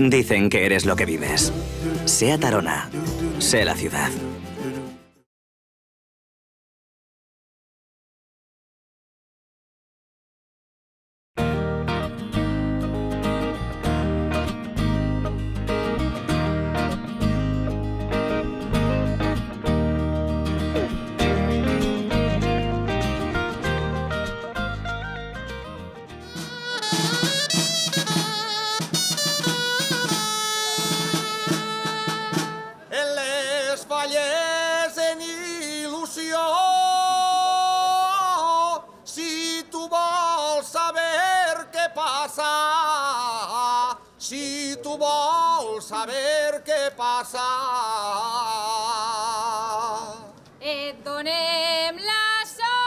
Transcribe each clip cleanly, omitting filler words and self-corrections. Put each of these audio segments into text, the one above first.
Dicen que eres lo que vives. SEAT Arona. Sé la ciudad. Si tu vols saber què passa, et donem la solució.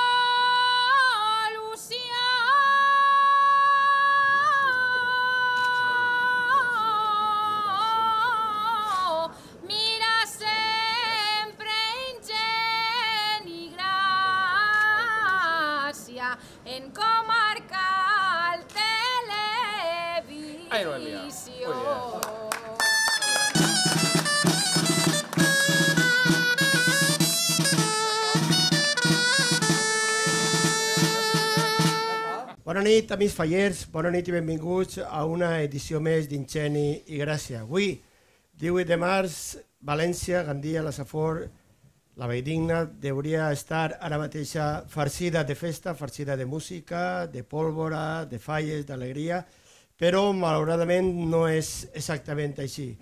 Mira sempre ingent i gràcia en Comarcal Televisió. Bona nit, amics fallers, bona nit i benvinguts a una edició més d'Ingeni i Gràcia. Avui, 18 de març, València, Gandia, la Safor, la Valldigna, hauria estar ara mateixa farcida de festa, farcida de música, de pólvora, de falles, d'alegria, però malauradament no és exactament així.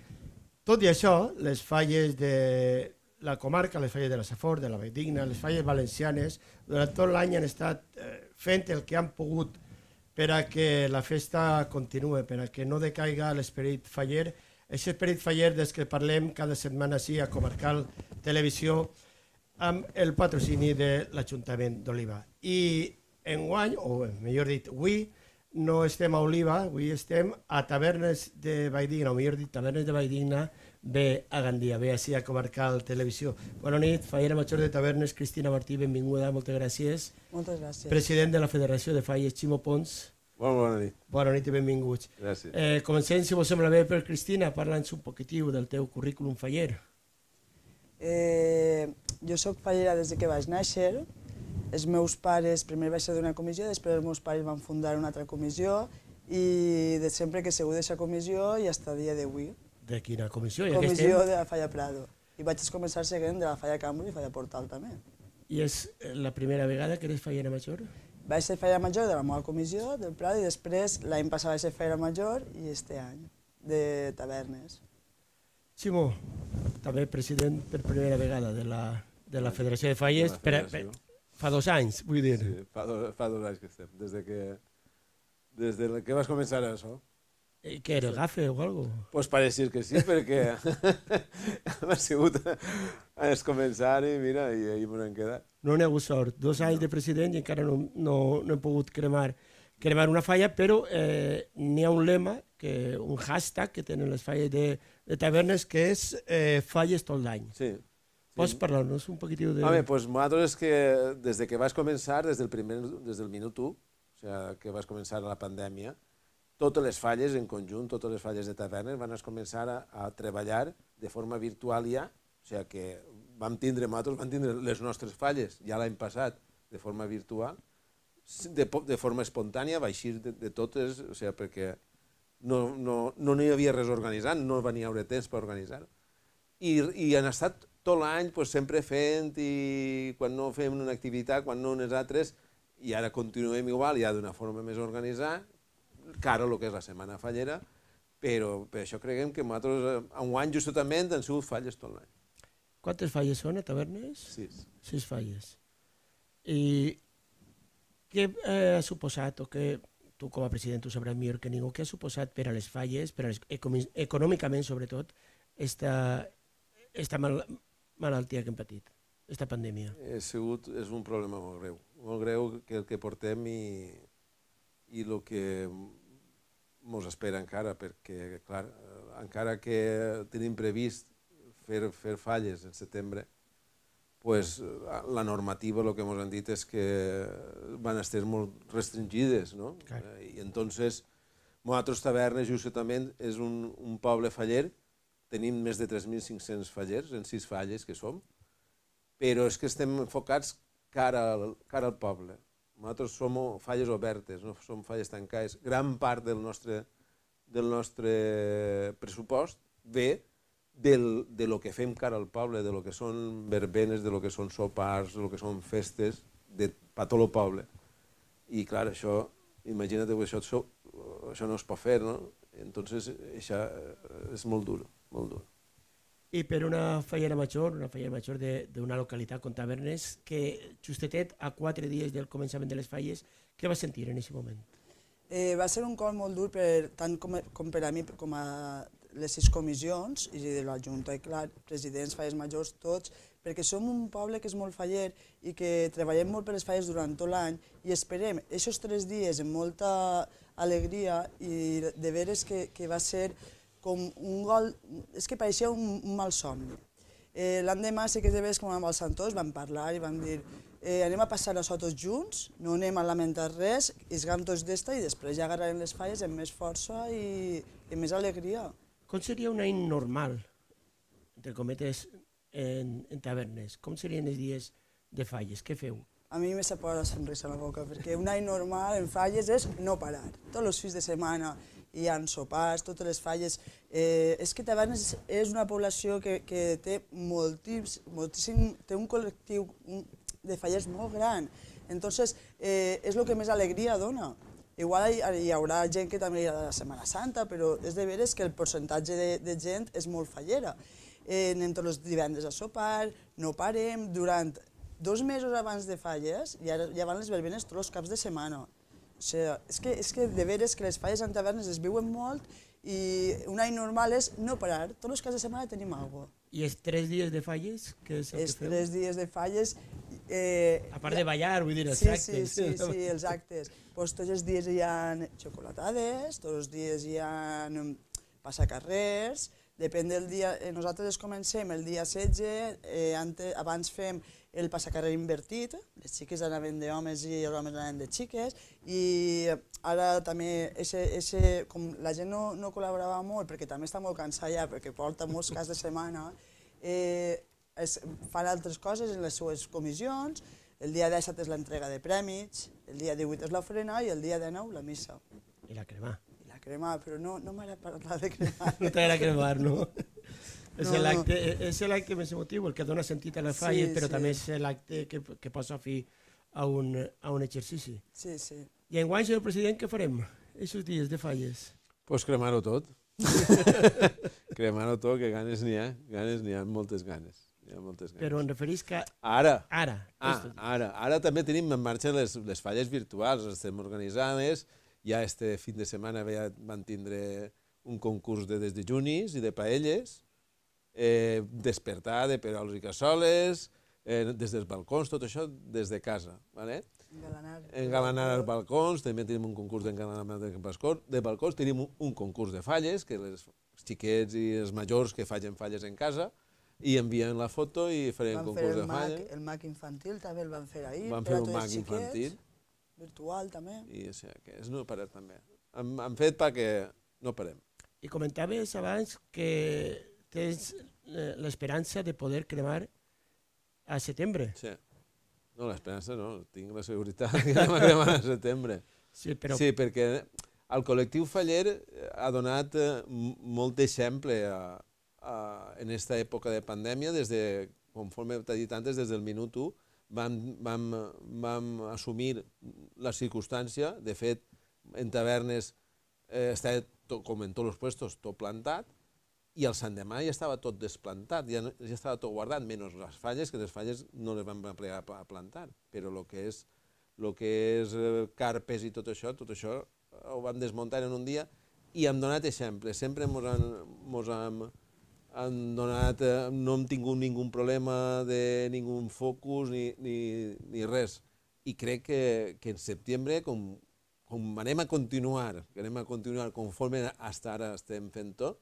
Tot i això, les falles de la comarca, les falles de la Safor, de la Valldigna, les falles valencianes, durant tot l'any han estat fent el que han pogut per a que la festa continue, per a que no decaiga l'esperit faller. Aquest esperit faller des que parlem cada setmana així a Comarcal Televisió amb el patrocini de l'Ajuntament d'Oliva. I enguany, o millor dit, avui, no estem a Oliva, avui estem a Tavernes de Valldigna, o millor dit, Tavernes de Valldigna, ve a Gandia, ve així a Comarcal Televisió. Bona nit, fallera major de Tavernes, Cristina Martí, benvinguda, moltes gràcies. Moltes gràcies. President de la Federació de Falles, Ximo Pons. Bona nit. Bona nit i benvinguts. Gràcies. Comencem, si vos sembla bé, per Cristina, parla'ns un poquitiu del teu currículum faller. Jo soc fallera des que vaig néixer. Els meus pares, primer vaig ser d'una comissió, després els meus pares van fundar una altra comissió i de sempre que he sigut d'aquesta comissió i fins a dia d'avui. De quina comissió? Comissió de la Falla Prado. I vaig començar seguint de la Falla Cambro i Falla Portal també. I és la primera vegada que eres fallera major? Vaig ser fallera major de la meva comissió, del Prado, i després l'any passat vaig ser fallera major i este any, de Tavernes. Ximo, també president per primera vegada de la Federació de Falles, fa 2 anys, vull dir. Sí, fa 2 anys que estem, des que vas començar això. Què era, gafe o alguna cosa? Pues pareix que sí, perquè ha sigut a començar i mira, i ahir m'ho hem quedat. No n'hi ha hagut sort, 2 anys de president i encara no he pogut cremar una falla, però n'hi ha un lema, un hashtag que tenen les falles de Tavernes, que és falles tot l'any. Sí. Pots parlar-nos un poquitiu de... Home, doncs nosaltres és que des que vas començar, des del minut 1, o sigui, que vas començar la pandèmia, totes les falles en conjunt, totes les falles de Tavernes van començar a treballar de forma virtual ja, o sigui que vam tindre les nostres falles ja l'any passat de forma virtual, de forma espontània, va eixir de totes, o sigui, perquè no hi havia res organitzat, no va haver temps per organitzar-ho. I han estat tot l'any sempre fent, i quan no fem una activitat, quan no unes altres, i ara continuem igual, ja d'una forma més organitzada, cara el que és la Setmana Fallera, però per això creiem que nosaltres, enguany justament, han sigut falles tot l'any. Quantes falles són a Tavernes? 6. 6 falles. I què ha suposat, o què tu com a president ho sabràs millor que ningú, què ha suposat per a les falles, econòmicament sobretot, esta malaltia que hem patit, esta pandèmia? És un problema molt greu que el que portem i el que ens espera encara, perquè, clar, encara que tenim previst fer falles en setembre, la normativa, el que ens han dit és que van estar molt restringides, no? I entonces, Nosaltres, Tavernes, justament, és un poble faller. Tenim més de 3.500 fallers, en 6 falles que som, però és que estem enfocats cara al poble. Nosaltres som falles obertes, no som falles tancades. Gran part del nostre pressupost ve de lo que fem cara al poble, de lo que són verbenes, de lo que són sopars, de lo que són festes, per tot el poble. I clar, això, imagina't que això no es pot fer, no? Entonces, això és molt dur, molt dur. I per una fallera major d'una localitat com Tavernes, que justetet a 4 dies del començament de les falles, què va sentir en aquest moment? Va ser un cop molt dur tant com per a mi com a les 6 comissions i de la Junta, i clar, presidents, falles majors, tots, perquè som un poble que és molt faller i que treballem molt per les falles durant tot l'any i esperem aquests 3 dies amb molta alegria i de veres que va ser com un gol, és que pareixia un mal somni. L'endemà sí que de veres com amb els santors vam parlar i vam dir anem a passar això tots junts, no anem a lamentar res, isgam tots d'esta i després ja agarrarem les falles amb més força i més alegria. Com seria un any normal, entre cometes, en Tavernes? Com serien els dies de falles? Què feu? A mi me s'aposa la sonrisa a la boca, perquè un any normal en falles és no parar. Tots els fins de setmana hi ha sopars, totes les falles. És que Tavernes és una població que té moltíssim, té un col·lectiu de fallers molt gran. Entonces, és el que més alegria dona. Igual hi haurà gent que també irà a la Setmana Santa, però és de veres que el percentatge de gent és molt fallera. Anem tots els divendres a sopar, no parem, durant 2 mesos abans de falles ja van les verbenes tots els caps de setmana. O sigui, és que de veres que les falles en Tavernes es viuen molt i un any normal és no parar, tots els caps de setmana tenim alguna cosa. I els 3 dies de falles, què és el que feu? Els 3 dies de falles... A part de ballar, vull dir, els actes. Sí, els actes. Tots els dies hi ha xocolatades, tots els dies hi ha passacarrers, depèn del dia. Nosaltres comencem el dia 16, abans fem el passacarrer invertit, les xiques anaven d'homes i els homes anaven de xiques, i ara també, com la gent no col·laborava molt, perquè també està molt cansada ja, perquè porta molts caps de setmana, fan altres coses en les seues comissions. El dia 17 és l'entrega de prèmits, el dia 18 és l'ofrena i el dia 19 la missa. I la cremar. I la cremar, però no m'agrada parlar de cremar. No t'agrada cremar, no? És l'acte més emotiu, el que dona sentit a les falles, però també és l'acte que posa fi a un exercici. Sí, sí. I enguany, senyor president, què farem aquests dies de falles? Doncs cremar-ho tot. Cremar-ho tot, que ganes n'hi ha, moltes ganes. Però em referís que... Ara també tenim en marxa les falles virtuals, les estem organitzades, ja este fin de setmana van tindre un concurs de desdejunis i de paelles, despertar de perols i cassoles, des dels balcons, tot això des de casa. Engalanar els balcons, també tenim un concurs d'engalanament de balcons, tenim un concurs de falles, que els xiquets i els majors que facin falles en casa, i envien la foto i farem concurs de falles. El MAC infantil també el van fer ahir. Van fer un MAC infantil. Virtual també. I que és no parar també. Han fet perquè no parem. I comentaves abans que tens l'esperança de poder cremar a setembre. Sí. No, l'esperança no, tinc la seguretat que anem a cremar a setembre. Sí, perquè el col·lectiu faller ha donat molt d'exemple en aquesta època de pandèmia, conforme t'he dit antes, des del minut 1, vam assumir la circumstància. De fet, en Tavernes estava, com en tots els puestos, tot plantat, i el sant demà ja estava tot desplantat, ja estava tot guardat, menys les falles, que les falles no les vam plegar a plantar, però el que és carpes i tot això ho vam desmuntar en un dia i hem donat exemple. Sempre no hem tingut ningú problema de ningú focus ni res. I crec que en setembre, com anem a continuar conforme fins ara estem fent tot,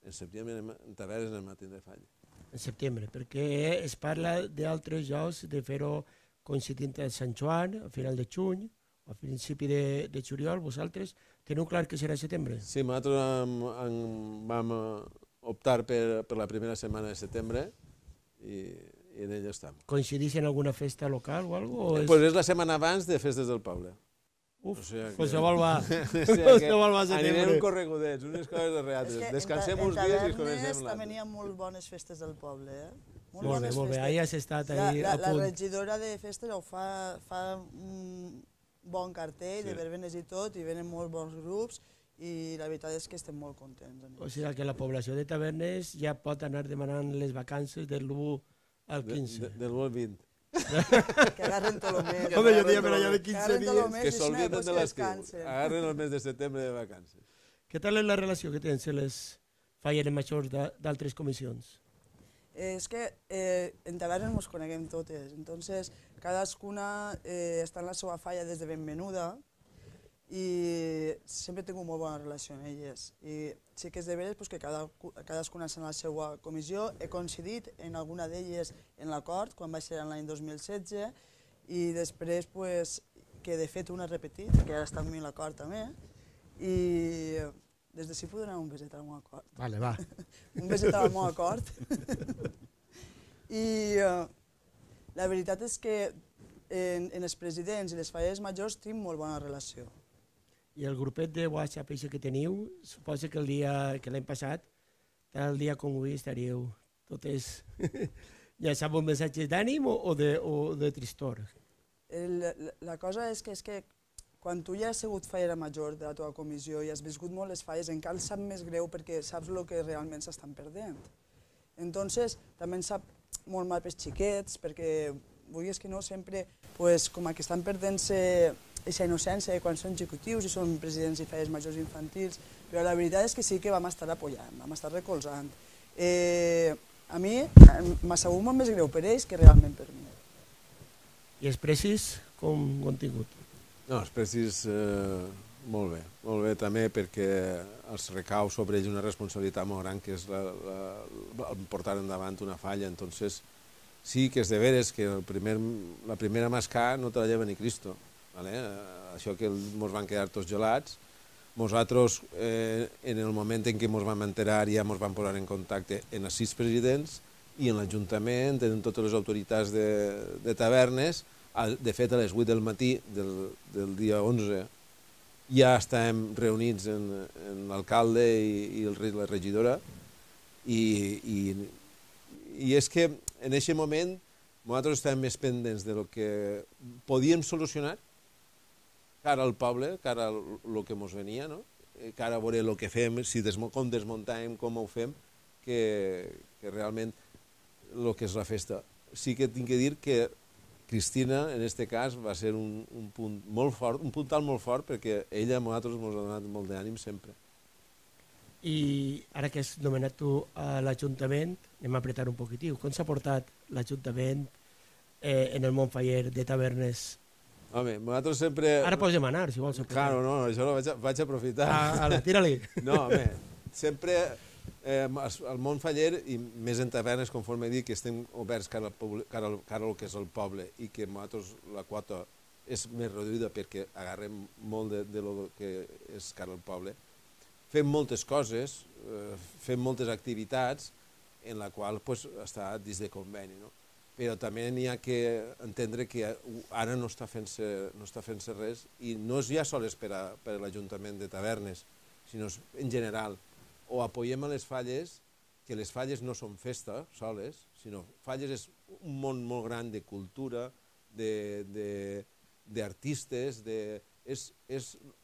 en setembre en Tavernes anem a tindre falla. En setembre, perquè es parla d'altres jocs, de fer-ho coincidint amb Sant Joan, a final de juny, a principi de juliol, vosaltres teniu clar que serà setembre? Sí, nosaltres vam optar per la primera setmana de setembre i en ella estem. Coincideix en alguna festa local o alguna cosa? Pues és la setmana abans de Festes del Poble. Uf, O sigui que- qualsevol va. O sigui Qualsevol va a anirem setembre. corregudets, unes coses darrere altres. Descansem uns dies i comencem també l'altre. n'hi ha molt bones festes del poble, eh? Molt bé, ahí has estat ahí La a punt. regidora de festes ho fa un bon cartell de verbenes i tot, i venen molt bons grups, i la veritat és que estem molt contents. O sigui que la població de Tavernes ja pot anar demanant les vacances del 1 al 15. Del 1 al 20. Que agarren tot el mes. Home, jo diria per allà de 15 Agarren tot el dies. mes Que i si no, s'olviden pues de que l'estiu. descansen. Agarren el mes de setembre de vacances. Què tal és la relació que tens amb les falleres majors d'altres comissions? És que en Tavernes ens coneguem totes, entonces cadascuna està en la seva falla des de ben menuda i sempre he tingut molt bona relació amb elles. I sí que és de veres que cadascuna està en la seva comissió. He coincidit en alguna d'elles en l'acord, quan va ser l'any 2016, i després que de fet una he repetit, que ara està amb mi a l'acord també, i des de si puc donar un beset al meu acord. Vale, va. Un beset al meu acord. I la veritat és que en els presidents i les falleres majors tinc molt bona relació. I el grupet de WhatsApp que teniu, suposo que l'any passat, tal dia com avui, estaríeu totes llançant missatges d'ànim o de tristor? La cosa és que quan tu ja has sigut fallera major de la teva comissió i has viscut molt les falles, encara et sap més greu perquè saps el que realment s'estan perdent. Entonces, també ens sap molt mal pels xiquets, perquè, vulguis que no, sempre, com que estan perdent-se aquesta innocència quan són xicottius i són presidents i falles majors infantils, però la veritat és que sí que vam estar apoyant, vam estar recolzant. A mi m'ha sabut molt més greu per ells que realment per mi. I els precis com ho han tingut? No, els precis molt bé també perquè els recau sobre ells una responsabilitat molt gran que és portar endavant una falla, entonces sí que és de veres que la primera mascar no te la lleva ni Cristo, ¿vale? Això que ens van quedar tots gelats. Nosaltres, en el moment en què ens vam enterar, ja ens vam posar en contacte amb els 6 presidents i en l'Ajuntament, amb totes les autoritats de Tavernes. De fet, a les 8 del matí del dia 11 ja estàvem reunits amb l'alcalde i la regidora i és que en aquest moment nosaltres estàvem més pendents del que podíem solucionar cara al poble, cara a el que ens venia, no? Cara a veure el que fem, com desmuntem, com ho fem, que realment el que és la festa. Sí que tinc que dir que Cristina, en aquest cas, va ser un punt molt fort, un puntal molt fort, perquè ella a nosaltres ens ha donat molt d'ànim sempre. I ara que has nomenat tu a l'Ajuntament, anem a apretar un poquitiu. Com s'ha portat l'Ajuntament en el món faller de Tavernes? Home, nosaltres sempre... Ara pots demanar, si vols. Claro, no, això ho vaig aprofitar. Tira-li. No, home, sempre al món faller, i més en Tavernes, conforme he dit, que estem oberts cara al que és el poble i que nosaltres la quota és més reduïda perquè agarrem molt de lo que és cara al poble. Fem moltes coses, fem moltes activitats en la qual està dins de conveni, no? Però també n'hi ha que entendre que ara no està fent-se res i no és ja sols per a l'Ajuntament de Tavernes, sinó en general. O apoyem a les falles, que les falles no són festa soles, sinó falles és un món molt gran de cultura, d'artistes, és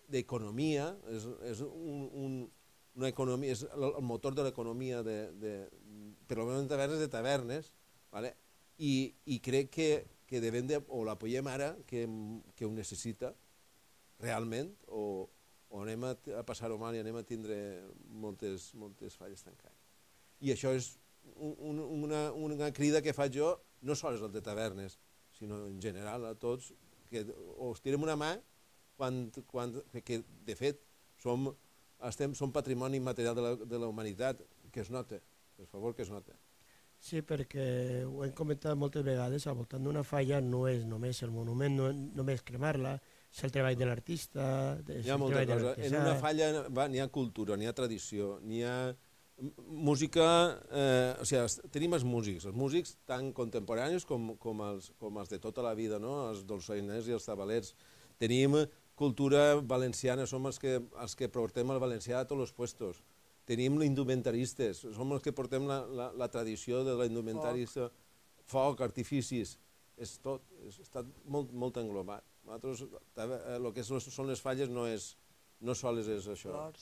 d'economia, és una economia, és el motor de l'economia, per almenys de Tavernes, i crec que devem de, o l'apoyem ara, que ho necessita realment, o anem a passar-ho mal i anem a tindre moltes falles tancades. I això és una crida que faig jo, no sols al de Tavernes, sinó en general a tots, que us tirem una mà que de fet som patrimoni immaterial de la humanitat, que es nota, per favor que es nota. Sí, perquè ho hem comentat moltes vegades, al voltant d'una falla no és només el monument, no només cremar-la, és el treball de l'artista, Hi ha molta cosa. En una falla n'hi ha cultura, n'hi ha tradició, n'hi ha música... O sigui, tenim els músics tan contemporanis com els de tota la vida, no? Els dolçainers i els tabalers. Tenim cultura valenciana, som els que portem el valencià a tots els puestos. Tenim indumentaristes, som els que portem la tradició de la indumentarista, foc, artificis, és tot, està molt englobat. Nosaltres, el que són les falles no sols és això,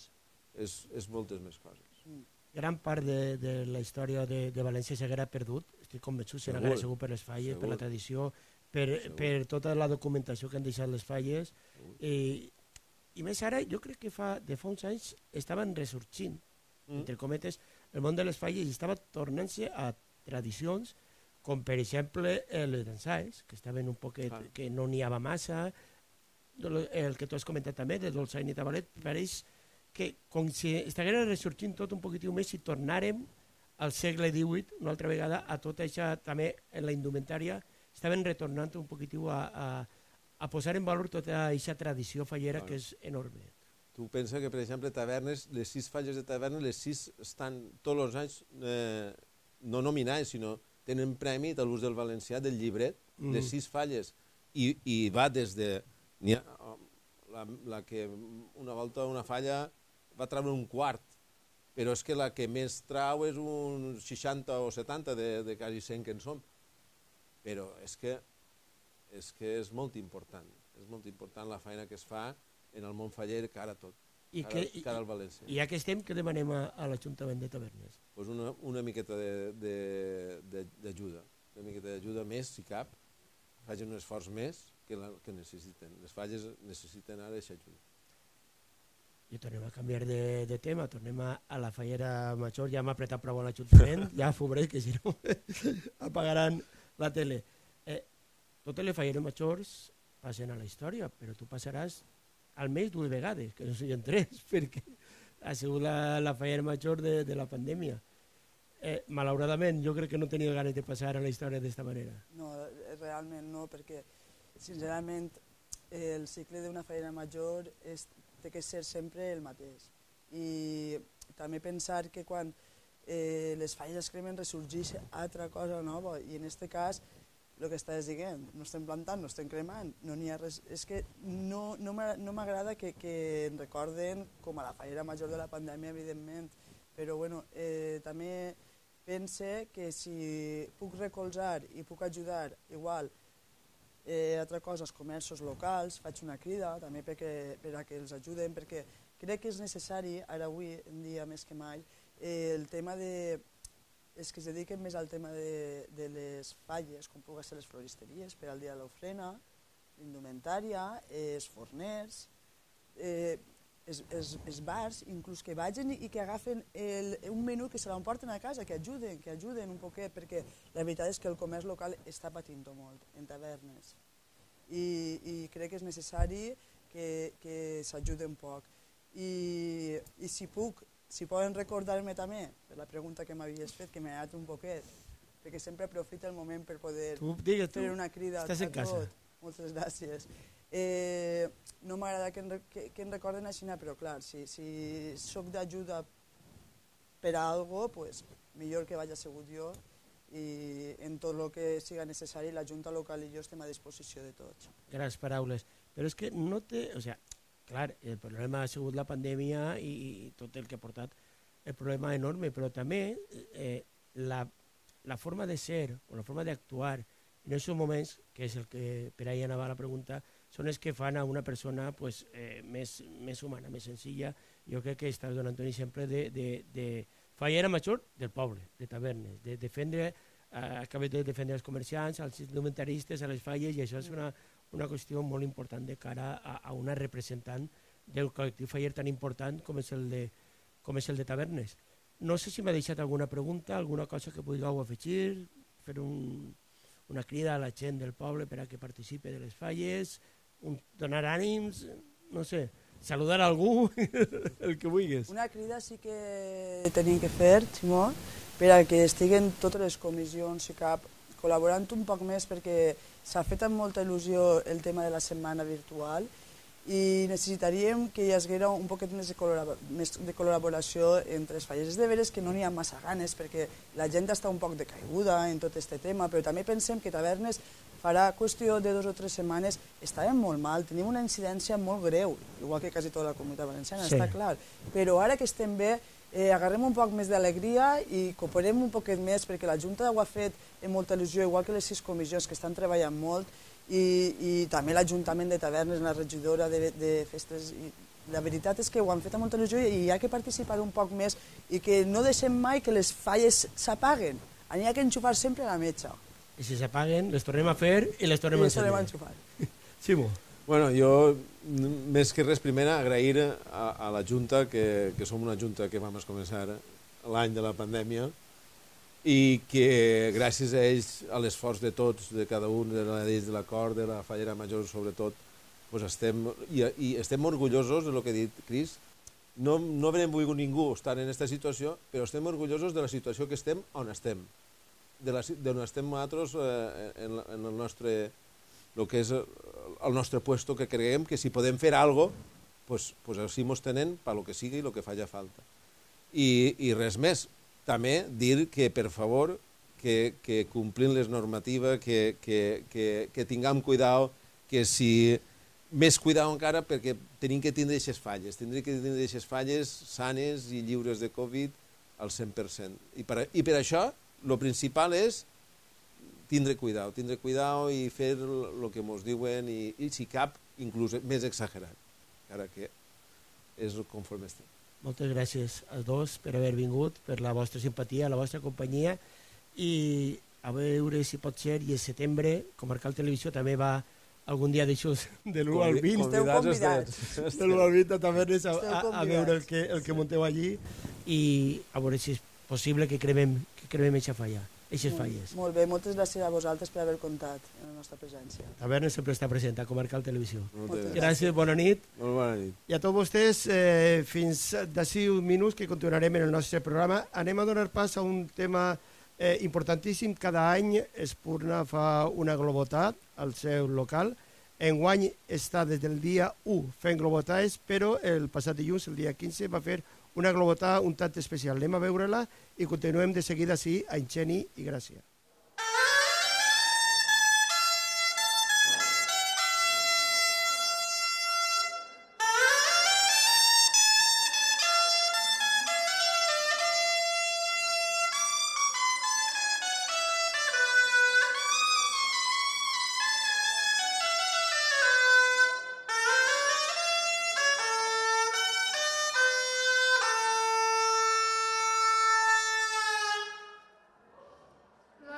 és moltes més coses. Gran part de la història de València s'haguera perdut, estic convençut, s'haguera segur per les falles, per la tradició, per tota la documentació que han deixat les falles, i més ara jo crec que de fa uns anys estaven ressorgint, entre cometes, el món de les falles estava tornant-se a tradicions com per exemple les dansaes, que estaven un poquet, que no n'hi havia massa, el que tu has comentat també, de dolçaina i tabalet, pareix que com si estiguera ressorgint tot un poquitiu més i tornàrem al segle XVIII, una altra vegada, a tot això també en la indumentària, estaven retornant un poquitiu a posar en valor tota aquesta tradició fallera que és enorme. Tu pensa que, per exemple, tavernes, les 6 falles de tavernes, les 6 estan tots els anys no nominades, sinó tenen premi de l'ús del valencià del llibret, les 6 falles, i va des de... La que una volta una falla va treure un quart, però és que la que més trau és un 60 o 70 de quasi 100 que en som. Però és que és molt important la feina que es fa en el món faller cara a tot, cara al València. I ja que estem, què demanem a l'Ajuntament de Tavernes? Pues una miqueta d'ajuda, més, si cap, facin un esforç més que necessiten. Les falles necessiten ara aquesta ajuda. I tornem a canviar de tema, tornem a la fallera major, ja m'ha apretat prou a l'Ajuntament, ja fobré que si no apagaran la tele. Totes les falleres majors passen a la història, però tu passaràs almenys 2 vegades, que no siguin 3, perquè ha sigut la fallera major de la pandèmia. Malauradament, jo crec que no tenia ganes de passar a la història d'esta manera. No, realment no, perquè sincerament el cicle d'una fallera major té que ser sempre el mateix. I també pensar que quan les falles es cremen ressorgeix altra cosa nova, i en aquest cas el que estàs dient, no estem plantant, no estem cremant, no n'hi ha res. És que no m'agrada que en recorden com a la fallera major de la pandèmia, evidentment, però bueno, també pense que si puc recolzar i puc ajudar igual altra cosa, els comerços locals, faig una crida també per a que els ajuden, perquè crec que és necessari, ara avui en dia més que mai, el tema de... és que es dediquen més al tema de les falles, com pugui ser les floristeries per al dia de l'ofrena, l'indumentària, els forners, els bars, inclús que vagin i que agafen un menú que se l'emporten a casa, que ajuden un poquet, perquè la veritat és que el comerç local està patint molt en tavernes. I crec que és necessari que s'ajuden un poc. I si puc, si poden recordar-me també, per la pregunta que m'havies fet, que m'ha agradat un poquet, perquè sempre aprofita el moment per poder fer una crida a tot. Moltes gràcies. No m'agrada que em recorden així, però clar, si soc d'ajuda per a alguna cosa, millor que vaig assegut jo, i en tot el que siga necessari la Junta Local i jo estem a disposició de tots. Grans paraules. Però és que no té... O sigui, clar, el problema ha sigut la pandèmia i tot el que ha portat el problema enorme, però també la forma de ser o la forma d'actuar en aquests moments, que és el que per ahí anava la pregunta, són els que fan a una persona més humana, més senzilla. Jo crec que estàs donant un exemple de fallera major del poble, de tavernes, de defendre, acabes de defendre els comerciants, els indumentaristes, a les falles, i això és una qüestió molt important de cara a una representant del col·lectiu faller tan important com és el de tavernes. No sé si m'ha deixat alguna pregunta, alguna cosa que vulgueu afegir, fer una crida a la gent del poble per a que participi de les falles, donar ànims, no sé, saludar a algú, el que vulguis. Una crida sí que tenim que fer, Ximó, per a que estiguen totes les comissions, si cap, col·laborant un poc més perquè s'ha fet amb molta il·lusió el tema de la setmana virtual i necessitaríem que hi haguera un poquet més de col·laboració entre els fallers. És de veres que no n'hi ha massa ganes perquè la gent està un poc decaiguda en tot aquest tema, però també pensem que Tavernes farà qüestió de 2 o 3 setmanes, estàvem molt mal, tenim una incidència molt greu, igual que quasi tota la comunitat valenciana, està clar, però ara que estem bé, agarrem un poc més d'alegria i cooperem un poquet més perquè la Junta ho ha fet amb molta il·lusió, igual que les 6 comissions que estan treballant molt i també l'Ajuntament de Tavernes, la regidora de festes. La veritat és que ho han fet amb molta il·lusió i hi ha que participar un poc més i que no deixem mai que les falles s'apaguen. N'hi ha que enxufar sempre la metxa. I si s'apaguen, les tornem a fer i les tornem a enxufar. Ximo. Bueno, jo, més que res, primer agrair a la Junta, que som una Junta que vam començar l'any de la pandèmia i que gràcies a ells, a l'esforç de tots, de cada un, de l'acord, de la Fallera Major sobretot, estem orgullosos del que ha dit Cris. No haurem volgut ningú estar en aquesta situació, però estem orgullosos de la situació que estem on estem. D'on estem nosaltres en el nostre, el que és el nostre puesto, que creiem que si podem fer alguna cosa, pues així mos tenen per lo que sigui i el que faci falta. I res més, també dir que, per favor, que complint les normatives, que tinguem cuidado, que si més cuidado encara perquè tenim que tindre aquestes falles, sanes i lliures de Covid al 100%. I per això, el principal és tindre cuidado i fer el que ens diuen i si cap, inclús més exagerat, encara que és conforme estem. Moltes gràcies als dos per haver vingut, per la vostra simpatia, la vostra companyia i a veure si pot ser, i el setembre Comarcal Televisió també va algun dia d'aixòs de l'1 al 20. Esteu convidats. De l'1 al 20 a Tavernes a veure el que munteu allí i a veure si és possible que cremem aquesta falla. Eixes falles. Molt bé, moltes gràcies a vosaltres per haver comptat en la nostra presència. Tavernes sempre està present a Comarcal Televisió. Gràcies, bona nit. Molt bona nit. I a tots vostès, fins d'ací uns minuts que continuarem en el nostre programa, anem a donar pas a un tema importantíssim. Cada any Espurna fa una globotat al seu local. Enguany està des del dia 1 fent globotades, però el passat dilluns, el dia 15, va fer una globotada un tant especial. Anem a veure-la i continuem de seguida així a Inxeni i Gràcia. La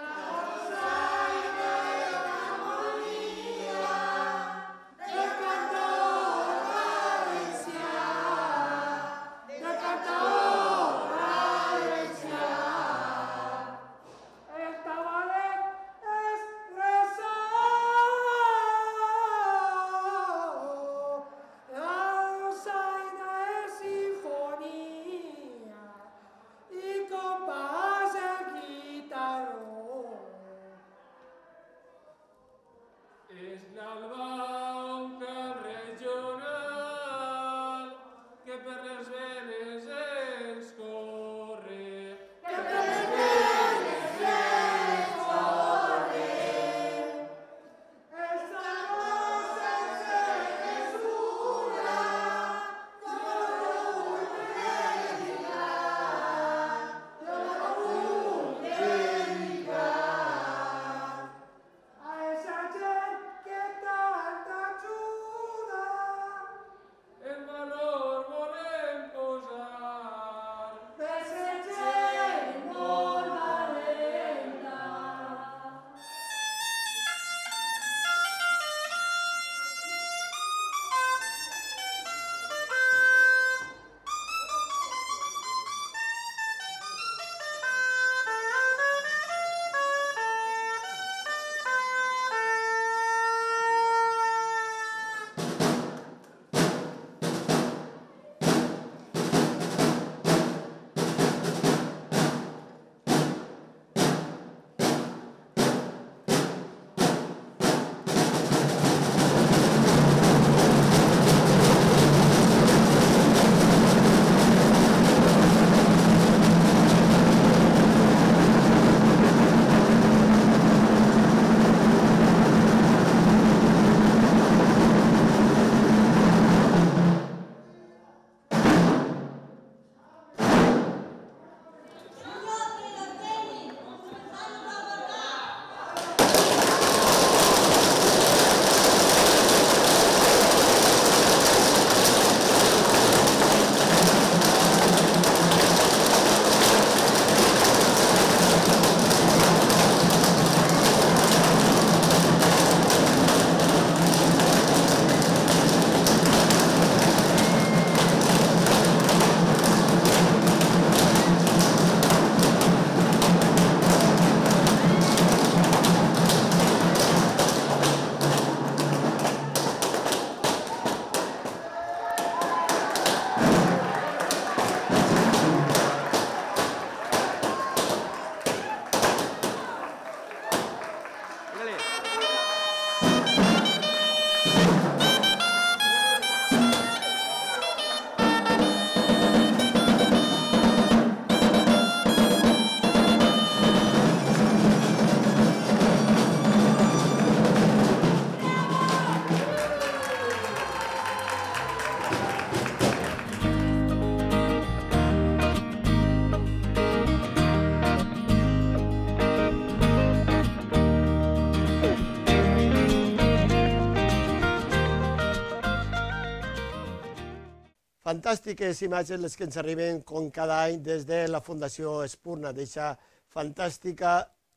Fantàstiques imatges les que ens arriben com cada any des de la Fundació Espurna, d'aquesta fantàstica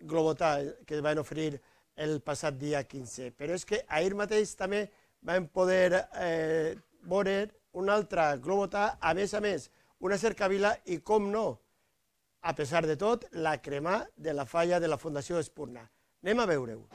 globotà que van oferir el passat dia 15. Però és que ahir mateix també vam poder veure una altra globotà, a més, una cercavila i, com no, a pesar de tot, la cremà de la falla de la Fundació Espurna. Anem a veure-ho.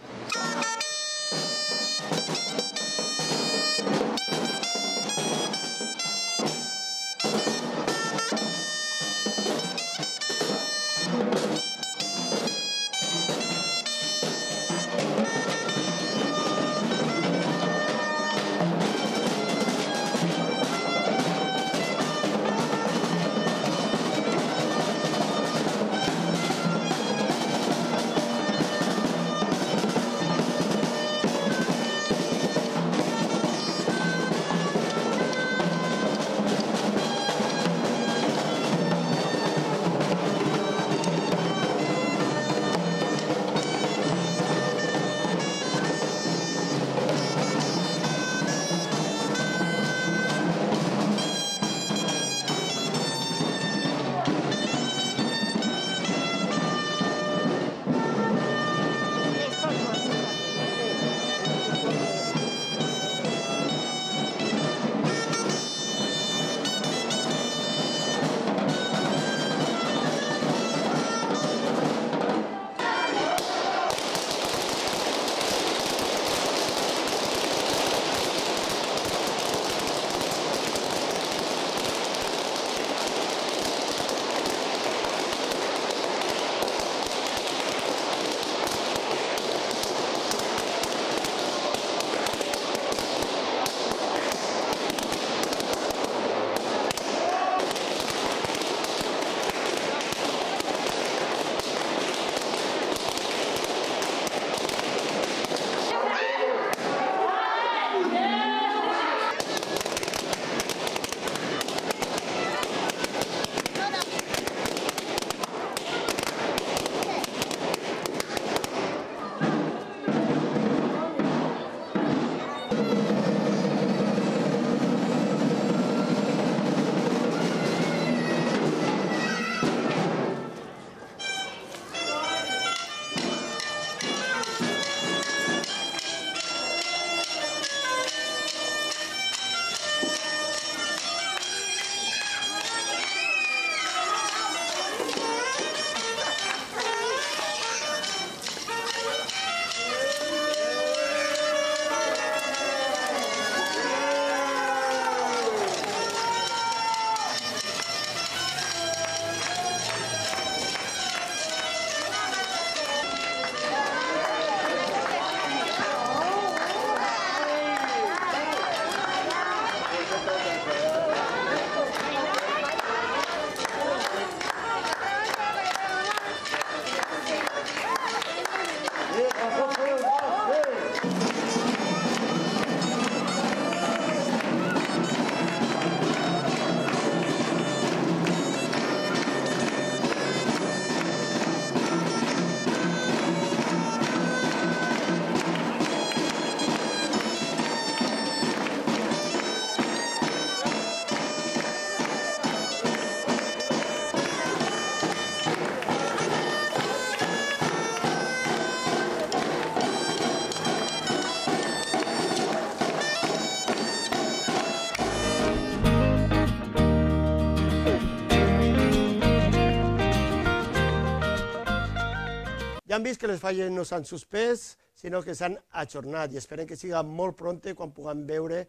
Ja han vist que les falles no s'han suspès, sinó que s'han ajornat i esperem que siga molt prompte quan puguem veure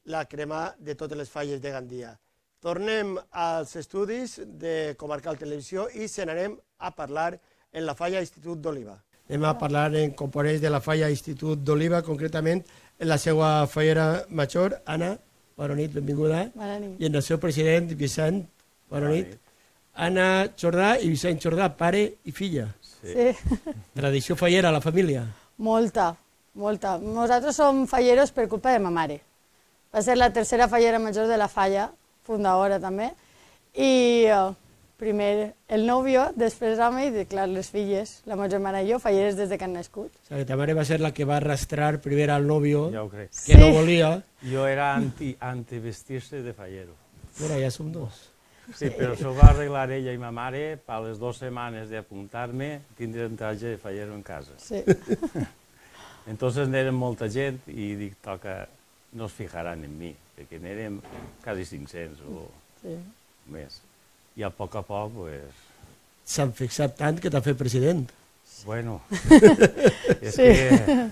la crema de totes les falles de Gandia. Tornem als estudis de Comarcal Televisió i se n'anem a parlar en la falla Institut d'Oliva. Anem a parlar en components de la falla Institut d'Oliva, concretament en la seva fallera major, Anna, bona nit, benvinguda. Bona nit. I en el seu president, Vicent, bona nit. Anna Jordà i Vicent Jordà, pare i filla. Sí. Tradició fallera a la família. Molta, molta. Nosaltres som falleros per culpa de ma mare. Va ser la tercera fallera major de la falla, fundadora també, i primer el nòvio, després home i, clar, les filles, la meva germana i jo, falleres des de que han nascut. O sigui, ta mare va ser la que va arrastrar primer al nòvio, Ja ho crec. que no volia. Jo era anti-vestir-se de fallero. Mira, ja som dos. Sí, però això ho va arreglar ella i ma mare. Per les 2 setmanes d'apuntar-me, tindré un traje de fallero en casa. Sí. Entonces n'érem molta gent i dic, toca, no es fijaran en mi, perquè n'érem quasi 500 o més. I a poc, pues... S'han fixat tant que t'ha fet president. Bueno, és que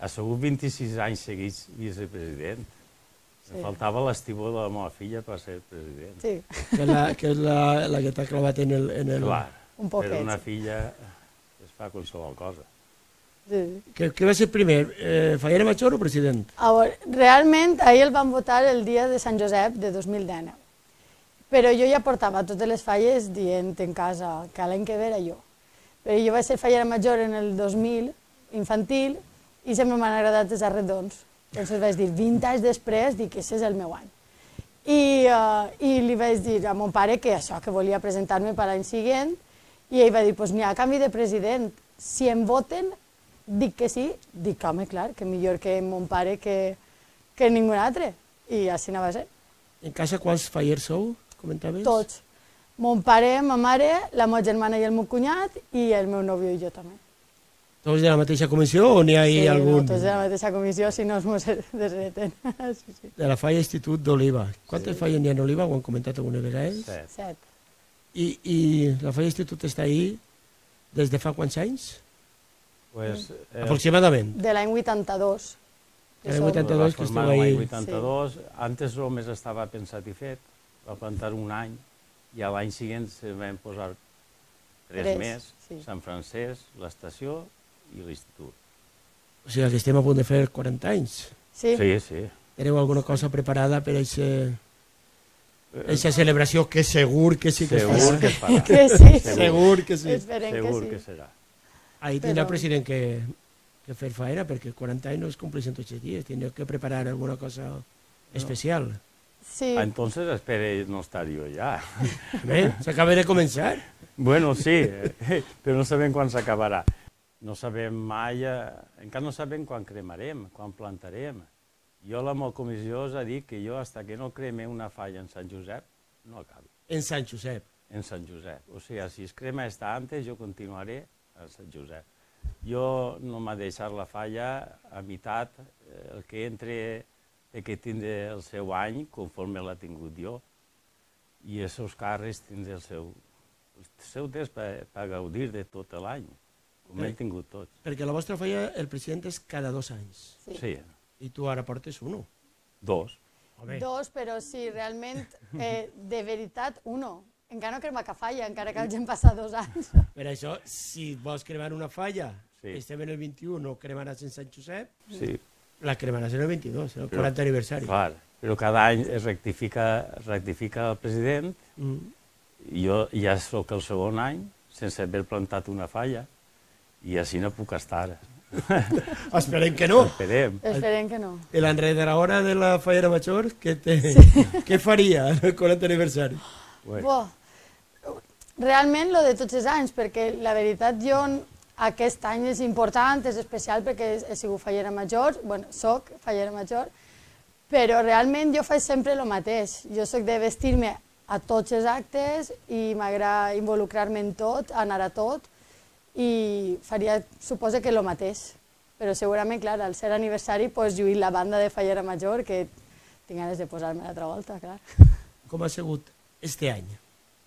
ha sigut 26 anys seguits vicepresident. Em faltava l'estimó de la meva filla per ser president. Sí. Que és la que t'ha clavat en el... Clar, un poquet, per una sí. filla es fa qualsevol cosa. Sí. Què va ser primer, fallera major o president? A veure, realment, ahir el van votar el dia de Sant Josep de 2019. Però jo ja portava totes les falles dient en casa que l'any que ve era jo. Però jo vaig ser fallera major en el 2000, infantil, i sempre m'han agradat els arredons. Llavors vaig dir, 20 anys després, dic que aquest és el meu any. I li vaig dir a mon pare que això, que volia presentar-me per l'any següent, i ell va dir, doncs n'hi ha canvi de president. Si em voten, dic que sí, dic, home, clar, que millor que mon pare que ningú altre. I així no va ser. En casa quants fallers sou, comentaves? Tots. Mon pare, ma mare, la meva germana i el meu cunyat, i el meu nòvio i jo també. Tots de la mateixa comissió o n'hi ha Sí, algun? no, tots de la mateixa comissió, si no es mos desreten. Sí. De la falla Institut d'Oliva. Quantes falles n'hi ha en Oliva? Ho han comentat alguna vegada? 7. I la falla Institut està ahí des de fa quants anys? Pues, Aproximadament. De l'any 82. De l'any 82 que esteu ahí. ahí. L'any 82, antes només estava pensat i fet, va plantar un any, i a l'any següent se van posar 3 més, sí. Sant Francesc, l'estació i l'institut. O sigui que estem a punt de fer 40 anys. Sí. Sí, sí. Teniu alguna cosa preparada per a aquesta celebració que segur que sí que es Segur farà? que es farà. Que sí. Segur que sí. Esperem Segur que que sí. serà. Ahí tindrà el Però- president que fer faena, perquè 40 anys no es compleixen tots els dies. Tindreu que preparar alguna cosa especial. Sí. Entonces espere no estar jo ja. Bé, s'acaba de començar. Bueno, sí, però no sabem quan s'acabarà. No sabem mai, encara no sabem quan cremarem, quan plantarem. Jo la meva comissió us ha dit que jo, fins que no creme una falla en Sant Josep, no acabi. En Sant Josep. En Sant Josep. O sigui, si es crema esta antes, jo continuaré a Sant Josep. Jo no m'ha deixat la falla a meitat, el que entre que tindré el seu any, conforme l'ha tingut jo, i els seus càrrecs tindré el seu temps per gaudir de tot l'any, com hem tingut tots. Perquè la vostra falla, el president és cada 2 anys. Sí, I tu ara portes 1. 2. Home, 2, però sí, realment, de veritat, 1. Encara no crema que falla, encara que hagin passat 2 anys. per això, si vols cremar una falla, Sí. estem en el 21, no cremaràs en Sant Josep, Sí, la cremaràs en el 22, en el Però- 40 aniversari. clar. Però cada any es rectifica el president Mm. i jo ja sóc el segon any sense haver plantat una falla i així no puc estar. Esperem que no. Esperem. Esperem que no. I l'enredadora de la fallera major, què faria en el 40 aniversari? Bueno, Realment, lo de tots els anys, perquè la veritat jo aquest any és important, és especial perquè he sigut fallera major, bueno, soc fallera major, però realment jo faig sempre el mateix. Jo soc de vestir-me a tots els actes i m'agrada involucrar-me en tot, anar a tot, i faria, suposo que el mateix. Però segurament, clar, al ser aniversari, pues, lluir la banda de fallera major, que tinc ganes de posar-me l'altra volta, clar. Com ha sigut este any?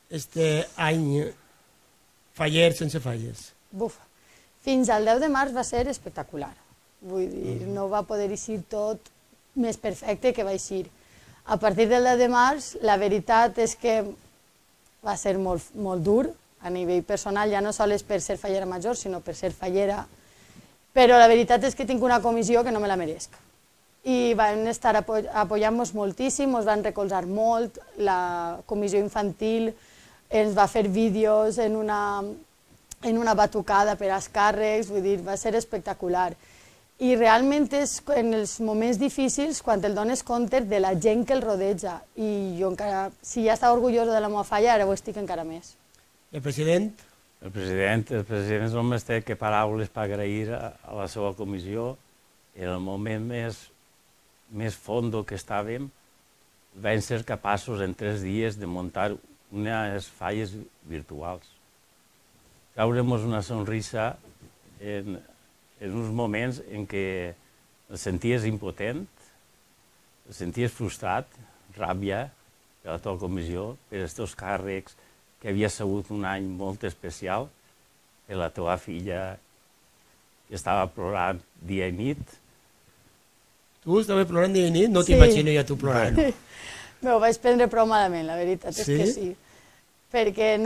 Este any faller sense falles. Buf, fins al 10 de març va ser espectacular. Vull dir, no va poder eixir tot més perfecte que va eixir. A partir del 10 de març, la veritat és que va ser molt, molt dur, a nivell personal, ja no sols per ser fallera major, sinó per ser fallera, però la veritat és que tinc una comissió que no me la meresc. I van estar apoyant-nos moltíssim, ens van recolzar molt, la comissió infantil ens va fer vídeos en una batucada per als càrrecs, vull dir, va ser espectacular. I realment és en els moments difícils quan te'l dones compte de la gent que el rodeja. I jo encara, si ja estava orgullosa de la meva falla, ara ho estic encara més. El president? el president només té que paraules per agrair a la seva comissió. En el moment més fondo que estàvem, vam ser capaços en 3 dies de muntar unes falles virtuals. Traure'm una sonrisa en uns moments en què el senties impotent, el senties frustrat, ràbia per la teva comissió, per els teus càrrecs, que havia sigut un any molt especial, per la teva filla, que estava plorant dia i nit. Tu estaves plorant dia i nit? No t'imagino ja tu plorant. M'ho vaig prendre prou malament, la veritat és que sí. Perquè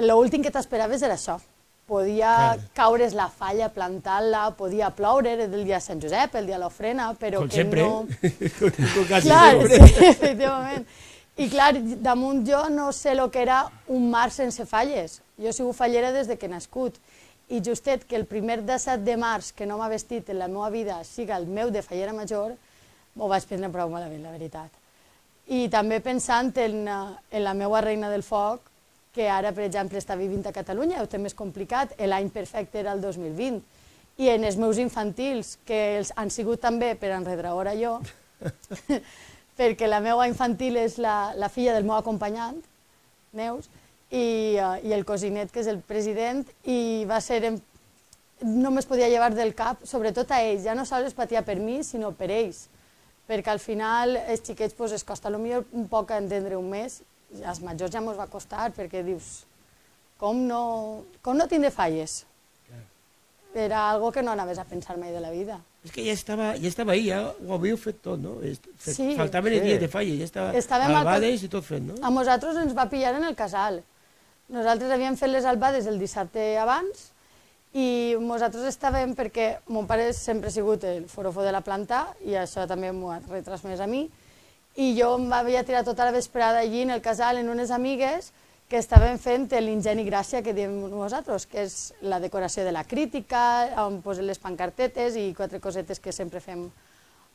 l'últim que t'esperaves era això. Podia caure's la falla plantant-la, podia ploure el dia de Sant Josep, el dia de l'ofrena, però que no... Com quasi clar, sempre. sí, efectivament. I clar, damunt jo no sé el que era un mar sense falles. Jo he sigut fallera des que he nascut. I justet que el primer 17 de març que no m'ha vestit en la meva vida siga el meu de fallera major, m'ho vaig prendre prou malament, la veritat. I també pensant en la meva reina del foc, que ara, per exemple, està vivint a Catalunya, ho té més complicat, l'any perfecte era el 2020, i en els meus infantils, que han sigut també per enredraora jo, perquè la meva infantil és la filla del meu acompanyant, Neus, i el cosinet, que és el president, i va ser... No me'ls podia llevar del cap, sobretot a ells, ja no sols patia per mi, sinó per ells, perquè al final els xiquets es costa potser un poc entendre un mes, als majors ja mos va costar, perquè dius, com no tindre falles? Era algo que no anaves a pensar mai de la vida. És que ja estava ahí, ja ho havíeu fet tot, no? Sí. Faltaven els dies de falles, ja estava albades i tot fet, no? A nosaltres ens va pillar en el casal. Nosaltres havíem fet les albades el dissabte abans i nosaltres estàvem, perquè mon pare sempre ha sigut el forofo de la planta i això també m'ho ha retransmès a mi, i jo em havia tirat tota la vesprada allí en el casal amb unes amigues que estaven fent l'ingeni gràcia que diem nosaltres, que és la decoració de la crítica, on posen les pancartetes i 4 cosetes que sempre fem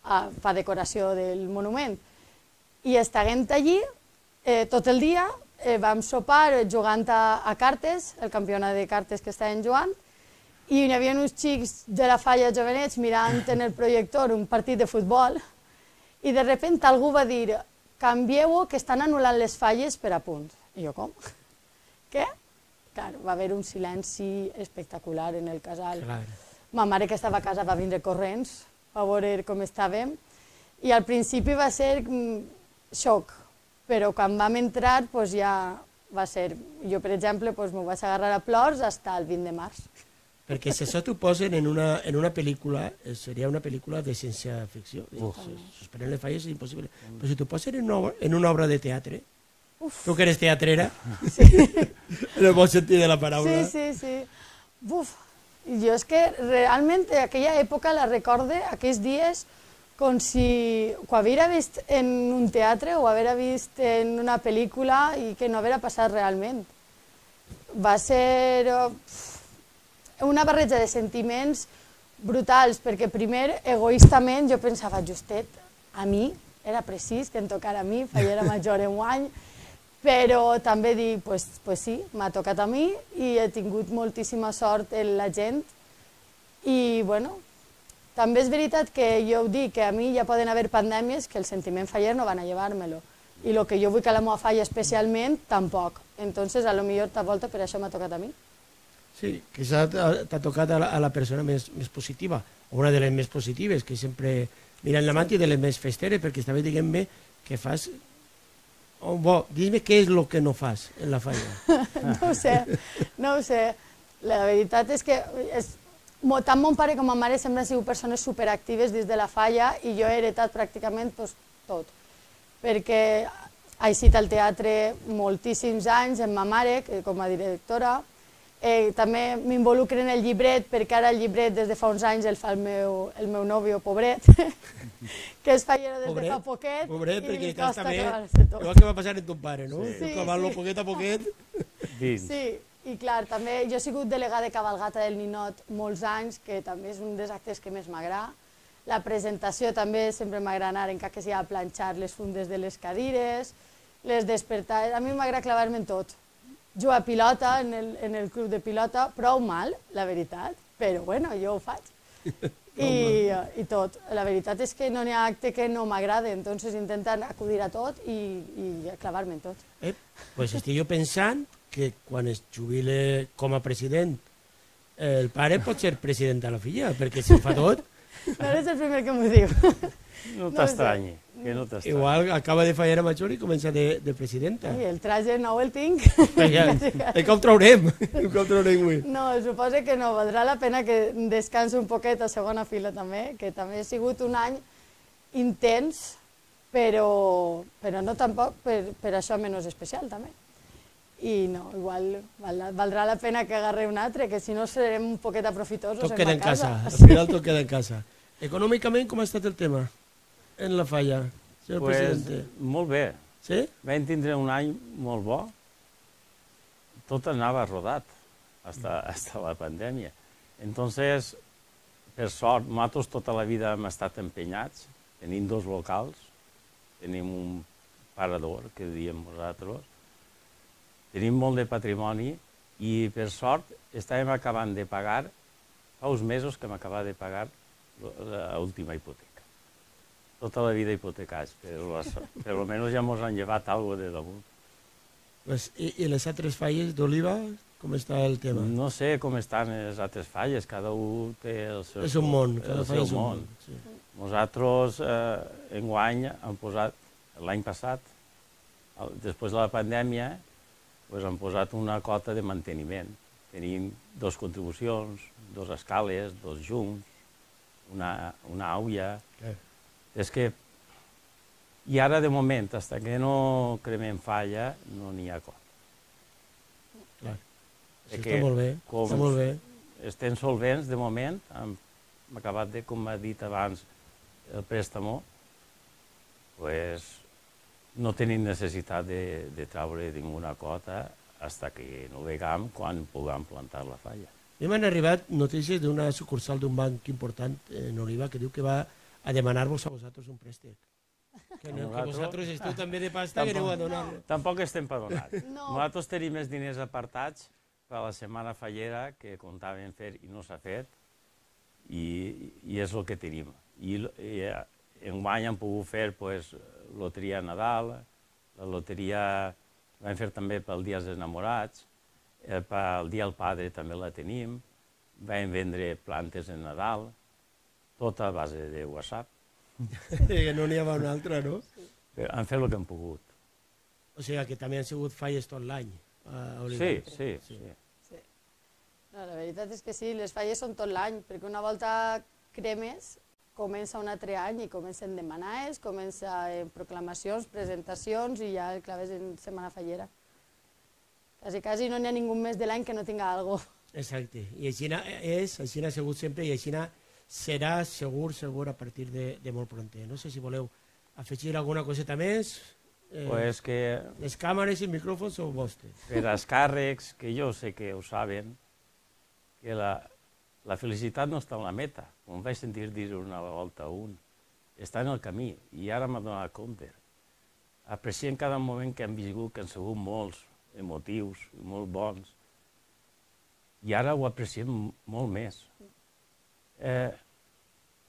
per decoració del monument. I estàvem allí tot el dia, vam sopar jugant a cartes, el campionat de cartes que estàvem jugant, i hi havia uns xics de la falla jovenets mirant en el projector un partit de futbol, i de sobte algú va dir, canvieu-ho, que estan anul·lant les falles per a punt. I jo, com? Què? Clar, va haver un silenci espectacular en el casal. Ma mare, que estava a casa, va vindre corrents a veure com estàvem, i al principi va ser xoc, però quan vam entrar ja va ser... Jo, per exemple, m'ho vaig agarrar a plors fins el 20 de març. Perquè si això t'ho posen en una pel·lícula, seria una pel·lícula de ciència-ficció. Suspenen les falles és impossible. Però si t'ho posen en una obra de teatre, tu que eres teatrera, en el bon sentit de la paraula. Sí. Buf, jo és que realment aquella època la recorde, aquells dies, com si ho haguera vist en un teatre o haguera vist en una pel·lícula i que no haguera passat realment. Va ser una barreja de sentiments brutals, perquè primer, egoístament, jo pensava, justet, a mi, era precís que em tocara a mi, fallera major en un any, però també dic, pues sí, m'ha tocat a mi i he tingut moltíssima sort en la gent. I, bueno, també és veritat que jo ho dic, que a mi ja poden haver pandèmies que el sentiment faller no van a llevar-me-lo. I el que jo vull que la meva falla especialment, tampoc. Entonces, a lo millor tal volta per això m'ha tocat a mi. Sí, quizá t'ha tocat a la persona més positiva, o una de les més positives, que sempre miren l'amant i de les més festeres, perquè estava dient-me que fas... Dime què és el que no fas en la falla. No ho sé. La veritat és que tant mon pare com ma mare sempre han sigut persones superactives dins de la falla i jo he heretat pràcticament tot. Perquè he estat al teatre moltíssims anys amb ma mare com a directora. També m'involucro en el llibret, perquè ara el llibret des de fa uns anys el fa el meu nòvio, pobret, que és fallero des de fa poquet. Pobret, perquè estàs també... Igual que va passar en ton pare, no? Cavant-lo poquet a poquet. Sí, i clar, també jo he sigut delegada de cabalgata del Ninot molts anys, que també és un dels actes que més m'agrada. La presentació també sempre m'agrada anar, encara que sigui a planxar les fundes de les cadires, les despertades... A mi m'agrada clavar-me en tot. Jugar a pilota en el club de pilota, prou mal, la veritat, però bueno, jo ho faig. i tot. La veritat és que no n'hi ha acte que no m'agrada, entonces intenten acudir a tot i clavar-me en tot. Pues estic jo pensant que quan es jubile com a president el pare pot ser president de la filla, perquè si ho fa tot... No eres el primer que m'ho diu. No t'estranyi, que no t'estranyi. Igual acaba de fallar a major i comença de presidenta. I el traje nou el tinc. Que ho traurem, que ho traurem avui. No, suposo que no, valdrà la pena que descansi un poquet a segona fila també, que també ha sigut un any intens, però no tampoc per això menys especial també. I no, igual valdrà la pena que agarre un altre, que si no serem un poquet aprofitosos tot queda en casa. Al final tot queda en casa. Econòmicament, com ha estat el tema en la falla, senyor presidente? Molt bé. Sí? Vam tindre un any molt bo. Tot anava rodat, hasta la pandèmia. Entonces, per sort, nosaltres tota la vida hem estat empenyats. Tenim 2 locals, tenim un parador, que diem nosaltres, tenim molt de patrimoni i, per sort, estàvem acabant de pagar, fa uns mesos que hem acabat de pagar l'última hipoteca. Tota la vida hipotecats, però almenys ja ens han llevat alguna cosa de damunt. I les altres falles d'Oliva, com està el tema? No sé com estan les altres falles, cada un té el seu món. És un món, cada falla és un món. Nosaltres, enguany, hem posat, l'any passat, després de la pandèmia, hem posat una cota de manteniment. Tenim 2 contribucions, 2 escales, 2 llums, una aulla. És que... I ara, de moment, fins que no cremem falla, no n'hi ha cota. Clar. Està molt bé, està molt bé. Estem solvents, de moment, hem acabat de, com ha dit abans, el préstamo, doncs no tenim necessitat de treure ninguna cota fins que no vegam quan puguem plantar la falla. A mi m'han arribat notícies d'una sucursal d'un banc important en Oliva que diu que va a demanar-vos a vosaltres un préstec. Que vosaltres esteu també de pasta que aneu a donar. Tampoc estem per donar. Nosaltres tenim els diners apartats per a la setmana fallera que comptàvem fer i no s'ha fet i és el que tenim. I enguany hem pogut fer loteria a Nadal, la loteria vam fer també pel Dia dels Enamorats, pel Dia del Padre també la tenim, vam vendre plantes en Nadal, tot a base de WhatsApp. Que no n'hi havia una altra, no? Han fet el que han pogut. O sigui que també han sigut falles tot l'any. Sí. La veritat és que sí, les falles són tot l'any, perquè una volta cremes comença un altre any i comencen demanades, comença proclamacions, presentacions i ja el claves en setmana fallera. Quasi no n'hi ha ningú més de l'any que no tinga alguna cosa. Exacte, i així ha sigut sempre i així serà segur a partir de molt pronter. No sé si voleu afegir alguna coseta més. Les càmeres i micròfons són vostres. Per als càrrecs, que jo sé que ho saben, que la felicitat no està en la meta, com vaig sentir dir una volta a un, està en el camí, i ara m'ha donat compte. Apreciem cada moment que hem viscut, que han sigut molts emotius, molt bons, i ara ho apreciem molt més.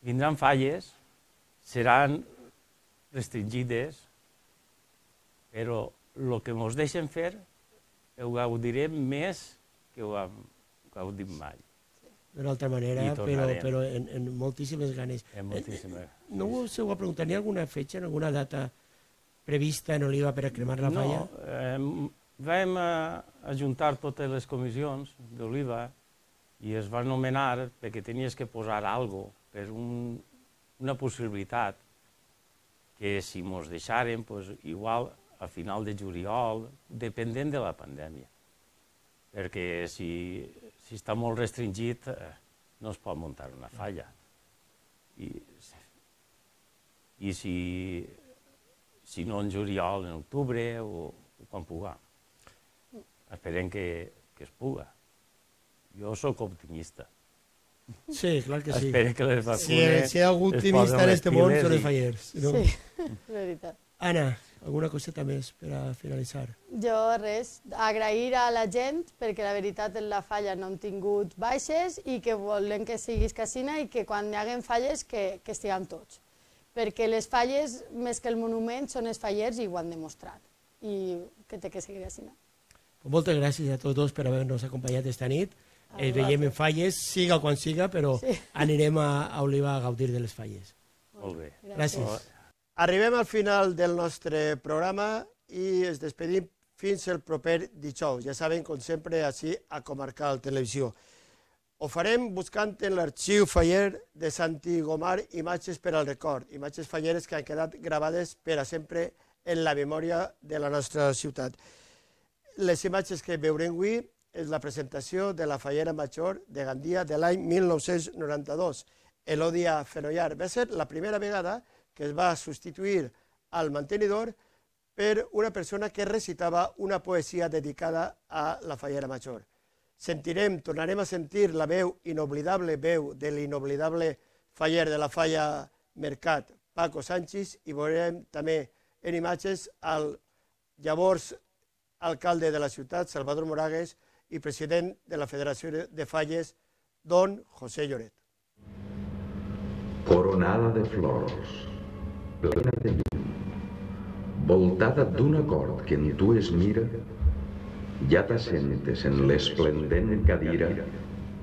Vindran falles, seran restringides, però el que ens deixen fer ho gaudirem més que ho hem gaudit mai. D'una altra manera, però en moltíssimes ganes. No us heu a preguntar, n'hi ha alguna fetge, alguna data prevista en Oliva per a cremar la falla? No, vam ajuntar totes les comissions d'Oliva i es va anomenar perquè tenies que posar alguna cosa per una possibilitat que si ens deixaren, igual a final de juliol, dependent de la pandèmia. Perquè si està molt restringit no es pot muntar una falla. I si no en juliol, en octubre o quan puguem. Esperem que es puga. Jo sóc optimista. Sí, clar que sí. Esperem que les vacunes... Si hi ha algú optimista en aquest món, són els fallers. Sí, és veritat. Anna, alguna coseta més per a finalitzar? Jo res, agrair a la gent perquè la veritat en la falla no hem tingut baixes i que volem que siguis casina i que quan hi haguen falles que estiguem tots. Perquè les falles, més que el monument, són els fallers i ho han demostrat. I que té que seguir casina. Moltes gràcies a tots dos per haver-nos acompanyat esta nit. Els veiem en falles, siga quan siga, però anirem a Oliva a gaudir de les falles. Molt bé. Gràcies. Arribem al final del nostre programa i ens despedim fins el proper dijous. Ja saben, com sempre, així a Comarcal Televisió. Ho farem buscant en l'arxiu faller de Santi Gomar imatges per al record, imatges falleres que han quedat gravades per a sempre en la memòria de la nostra ciutat. Les imatges que veurem avui és la presentació de la fallera major de Gandia de l'any 1992. Elòdia Fenollar. Va ser la primera vegada que es va substituir al mantenidor per una persona que recitava una poesia dedicada a la fallera major. Tornarem a sentir la inoblidable veu de l'inoblidable faller de la falla Mercat, Paco Sánchez, i veurem també en imatges al llavors alcalde de la ciutat, Salvador Moragues, i president de la Federació de Falles, don José Lloret. Coronada de flors, plena de llum, voltada d'un acord que en tu es mira, ja t'assentes en l'esplendent cadira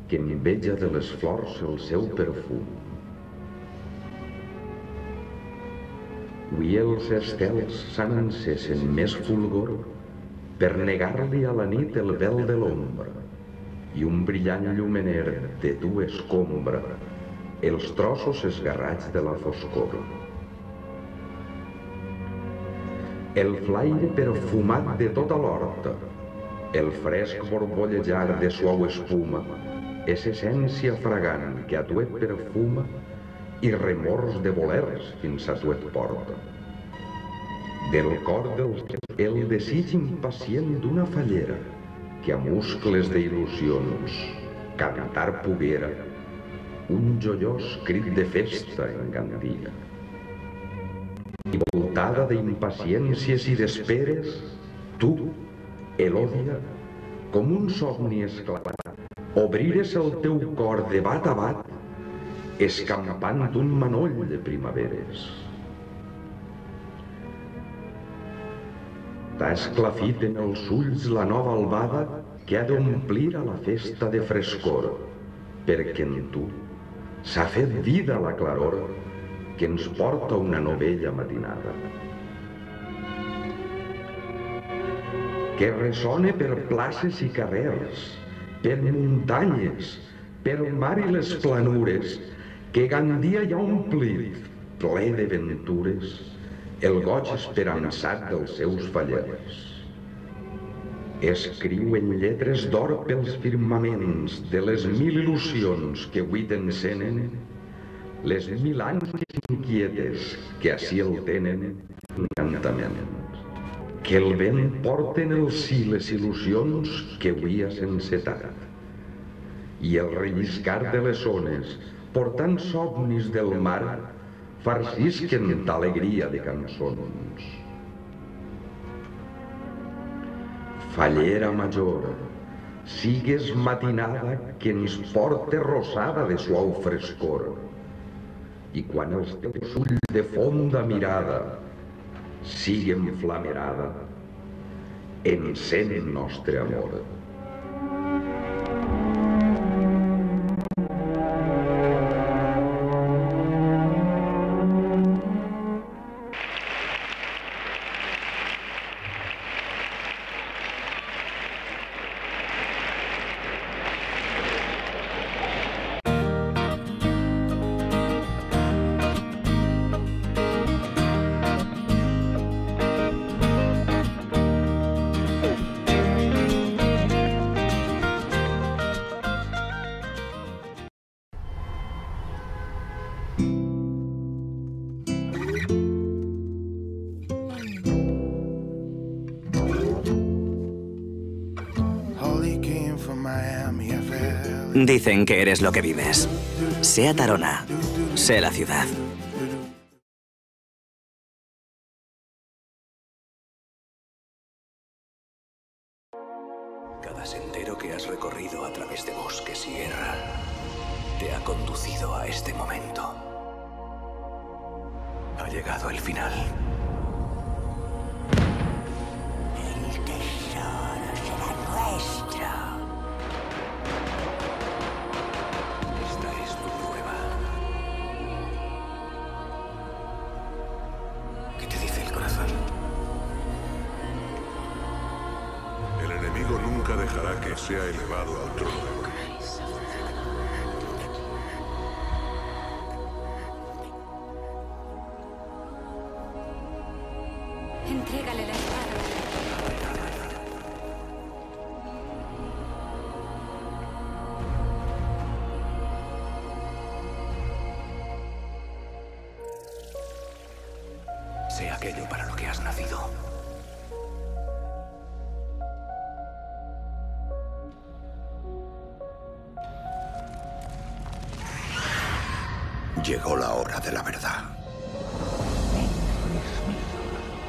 que enveja de les flors el seu perfum. Avui els estels s'han encès en més fulgor per negar-li a la nit el vel de l'ombra i un brillant llumener de tu escombra els trossos esgarrats de la foscor. El flaire perfumat de tota l'horta, el fresc borbollejar de suau espuma, és essència fragant que a tu et perfuma i remors de volers fins a tu et porta. Del cor del cel el desig impacient d'una fallera que a muscles d'il·lusions cantar poguera un joiós crit de festa en Gandia. I voltada d'impaciències i d'esperes, tu, Elòdia, com un somni esclavat, obrires el teu cor de bat a bat, escampant un manoll de primaveres. T'ha esclafit en els ulls la nova albada que ha d'omplir a la festa de frescor, perquè en tu s'ha fet vida la claror que ens porta una novella matinada. Que ressone per places i carrers, per muntanyes, per mar i les planures, que Gandia ja ha omplit, ple de ventures, el goig esperançat dels seus fallers. Escriu en lletres d'or pels firmaments de les 1000 il·lusions que avui t'encenen, les 1000 ànsies inquietes que ací el tenen encantament. Que el vent porta en el si les il·lusions que avui has encetat, i el relliscar de les ones, portant somnis del mar, farcisquen d'alegria de cançons. Fallera major, sigues matinada que ens porte rosada de suau frescor, i quan els teus ulls de fonda mirada siguen flamerada, encén el nostre amor. Dicen que eres lo que vives. Sea Tarona, sé la ciudad. Cada sendero que has recorrido a través de bosques y guerra te ha conducido a este momento. Ha llegado el final. El tesoro será nuestro. Esta es tu prueba. ¿Qué te dice el corazón? El enemigo nunca dejará que sea elevado al trono. Entrégale la espada. Sé aquello para lo que has nacido. Llegó la hora de la verdad.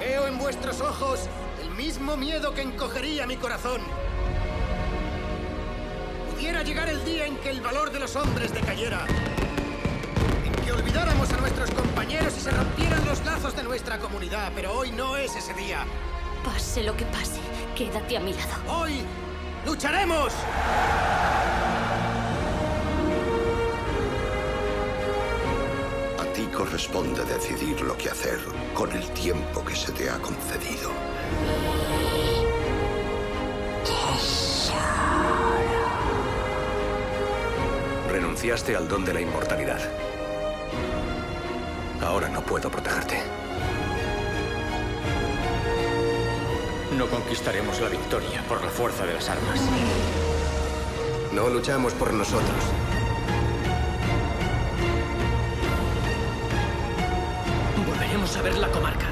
Veo en vuestros ojos el mismo miedo que encogería mi corazón. Pudiera llegar el día en que el valor de los hombres decayera. En que olvidáramos a nuestros compañeros y se rompieran los lazos de nuestra comunidad. Pero hoy no es ese día. Pase lo que pase, quédate a mi lado. ¡Hoy lucharemos! A ti corresponde decidir lo que hacer con el tiempo que se te ha concedido. Renunciaste al don de la inmortalidad. Ahora no puedo protegerte. No conquistaremos la victoria por la fuerza de las armas. No luchamos por nosotros. Volveremos a ver la comarca.